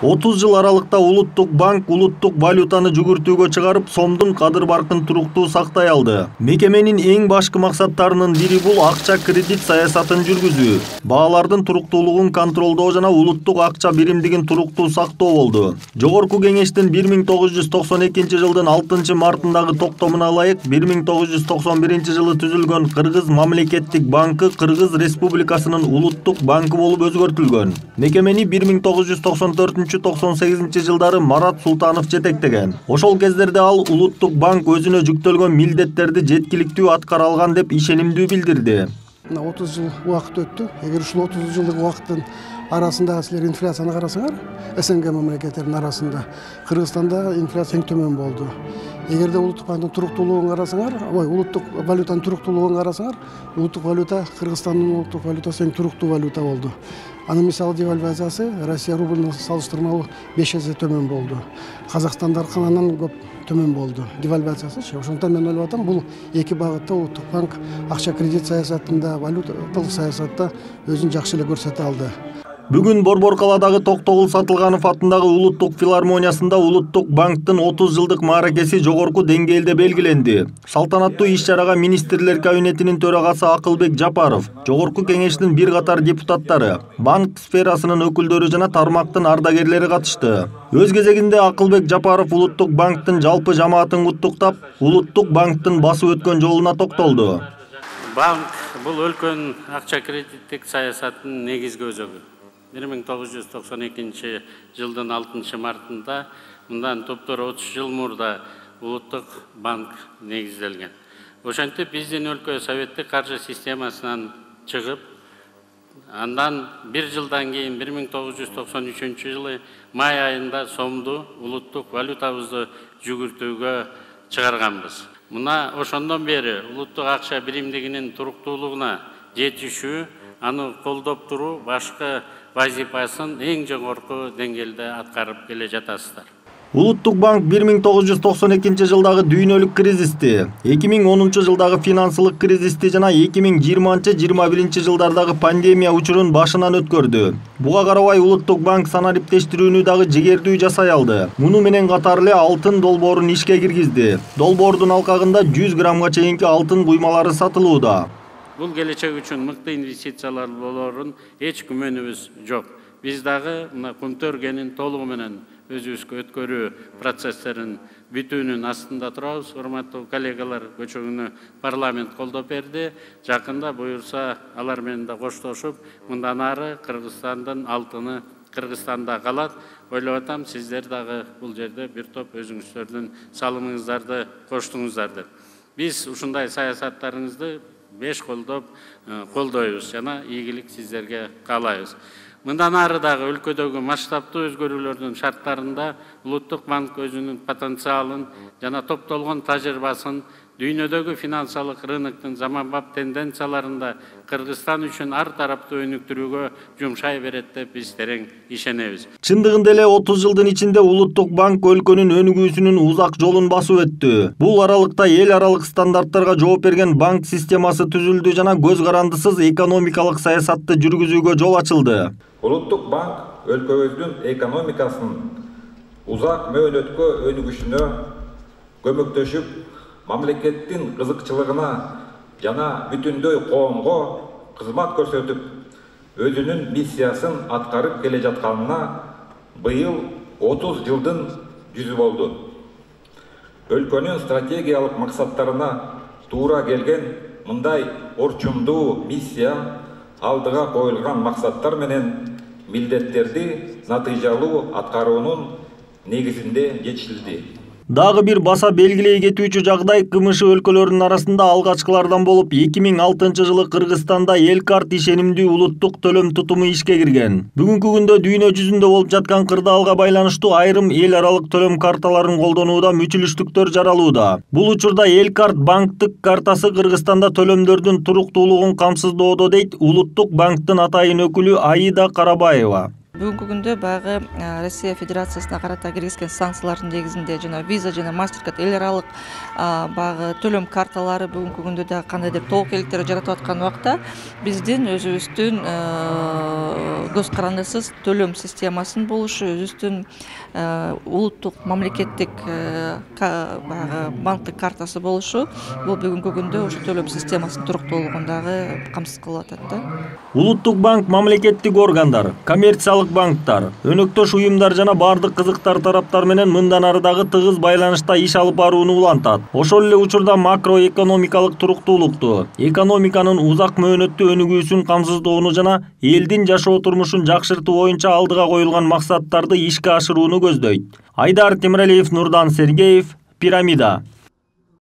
30 жыл аралыкта Улуттук банк улуттук валютаны жүгүртүүгө чыгарып, сомдун кадыр баркын туруктуу сактай алды. Мекеменин эң башкы максаттарынын бири бул акча кредит саясатын жүргүзүү, баалардын туруктуулугун контролдоо жана улуттук акча биримдигин туруктуу сактоо болду. Жогорку кеңештин 1992 жылдын 6 мартындагы токтомуна ылайык 1991 жылы түзүлгөн Кыргыз мамлекеттик банкы Кыргыз Республикасынын улуттук банкы болуп өзгөртүлгөн. Мекемени 1994-98 жылдары Марат Султанов жетектеген. Ошол кездерде ал Улуттук банк өзүнө жүктөлгөн милдеттерди жеткиликтүү аткара алган деп ишенимдүү билдирди. 30 жыл убакыт өттү. Эгер ушул 30 жылдык убакыттын арасында силер инфляцияны карасаңар, СНГ мамлекеттеринин арасында Кыргызстанда инфляция эң төмөн болду. Эгерде улуттук банктын туруктуулугун карасаңар, улуттук валютанын туруктуулугун карасаңар, улуттук валюта Кыргызстандын улуттук валютасы эң туруктуу валюта болду. Анын мисалы девальвациясы Россия рубльуна салыштырмалуу 5 эсе төмөн болду. Казакстандаркынан көп төмөн болду девальвациясы. Ошондон мен ойлоп атам, бул эки багытта улуттук банк акча кредит саясатында, валюталык саясатта өзүн жакшы эле көрсөтө алды. Бүгүн Борбор калаадагы Токтогул Сатылганов атындагы Улуттук филармониясында Улуттук банктын 30 жылдык мааракеси жогорку деңгээлде белгиленди. Салтанаттуу иш-чарага министрлер кабинетинин төрагасы Акылбек Жапаров, жогорку кеңештин бир катар депутаттары, банк сферасынын өкүлдөрү жана тармактын ардагерлери катышты. Өз кезегинде Акылбек Жапаров Улуттук банктын жалпы жамаатын куттуктап, Улуттук банктын басып өткөн жолуна токтолду. Банк бул өлкөнүн акча кредиттик саясатынын негизги өзөгү. 1992 жылдын 6 мартында мындан топтор 30 жыл мурда Улуттук банк негизделген. Ошентип биздин өлкө советтик каржы системасынан чыгып, андан бир жылдан кийин 1993 жылы май айында сомду улуттук валютабызды жүгүртүүгө чыгарганбыз. Мына ошондон бери улуттук акча биримдигинин туруктуулугуна жетишүү, аны колдоп туруу башкы вазифасын эң жогорку деңгээлде аткарып келе жатасыздар. Улуттук банк 1992 жылдагы дүйнөлүк кризисти, 2010 жылдагы финансылык кризисти жана 2020-21 жылдардагы пандемия учурун башынан өткөрдү. Буга карабай Улуттук банк санариптештирүүнү дагы жигердүү жасай алды. Муну менен катар эле алтын долбоорун ишке киргизди. Долбоордун алкагында 100 граммга чейинки алтын буймалары сатылууда. Бул келечек үчүн мыкты инвестициялар болорун эч күмөнүбүз жок. Биз дагы мына Кумтөргенин толугу менен өзүбүзгө өткөрүү процесстерин бүтүүнүн астында турабыз. Урматтуу коллегалар, көчөгүнү парламент колдоп берди. Жакында буюрса алар менен да коштошуп, мындан ары Кыргызстандын алтыны Кыргызстанда калат. Ойлоп атам, сиздер дагы бул жерде бир топ өзүңүздөрдүн салымыңыздарды коштуңуздар деп. Биз ушундай саясаттарыңызды беш колдойбуз жана ийгилик сиздерге каалайбыз. Мындан ары дагы өлкөдөгү масштабтуу өзгөрүүлөрдүн шарттарында Улуттук банк өзүнүн потенциалын жана топтолгон тажрыйбасын дүйнөдөгү финансылык рыноктун заманбап тенденцияларында Кыргызстан үчүн ар тараптуу өнүктүрүүгө жумшай берет деп биз терең ишенебиз. Чындыгында эле 30 жылдын ичинде Улуттук банк өлкөнүн өнүгүүсүнүн узак жолун басып өттү. Бул аралыкта эл аралык стандарттарга жооп берген банк системасы түзүлдү жана көз карандысыз экономикалык саясатты жүргүзүүгө жол ачылды. Улуттук банк өлкөбүздүн экономикасынын узак мөөнөткө өнүгүшүнө көмөктөшүп, мамлекеттин кызыкчылыгына жана бүтүндөй коомго кызмат көрсөтүп, өзүнүн миссиясын аткарып келе жатканына быйыл 30 жылдын жүзү болду. Өлкөнүн стратегиялык максаттарына туура келген мындай орчундуу миссия алдыга коюлган максаттар менен милдеттерди натыйжалуу аткаруунун негизинде жетишилди. Дагы бир баса белгилей кетүүчү жагдай КМШ өлкөлөрүнүн арасында алгачкылардан болуп 2006 жылы Кыргызстанда Элкарт ишенимдүү улуттук төлөм тутуму ишке кирген. Бүгүнкү күндө дүйнө жүзүндө болуп жаткан кырдаалга байланыштуу айрым эл аралык төлөм карталарын колдонууда мүчүлүштүктөр жаралууда. Бул учурда Элкарт банктык картасы Кыргызстанда төлөмдөрдүн туруктуулугун камсыздоодо дейт Улуттук банктын атайын өкүлү Аида Карабаева. Бүгүнкү күндө баягы Россия Федерациясына карата киргизген санкциялардын негизинде жана виза жана MasterCard эл аралык баягы төлөм карталары бүгүнкү күндө дагы кандайдыр тобокелдиктер жаратып аткан убакта биздин өзүбүздүн көз карандысыз төлөм системасын болушу, өзүбүздүн улуттук мамлекеттик баягы банктык картасы болушу бул бүгүнкү күндө ушу төлөм системасынын туруктуулугун дагы камсыз кылып атат да. Улуттук банк мамлекеттик органдар, коммерциялык банктар, өнөктөш уюмдар жана бардык кызыктар тараптар менен мындан ары дагы тыгыз байланышта иш алып барууну улантат. Ошол эле учурда макроэкономикалык туруктуулукту, экономиканын узак мөөнөттүү өнүгүүсүн камсыздоону жана элдин жашоо турмушун жакшыртуу боюнча алдыга коюлган максаттарды ишке ашырууну көздөйт. Айдар Темиралиев, Нурдан Сергеев, Пирамида.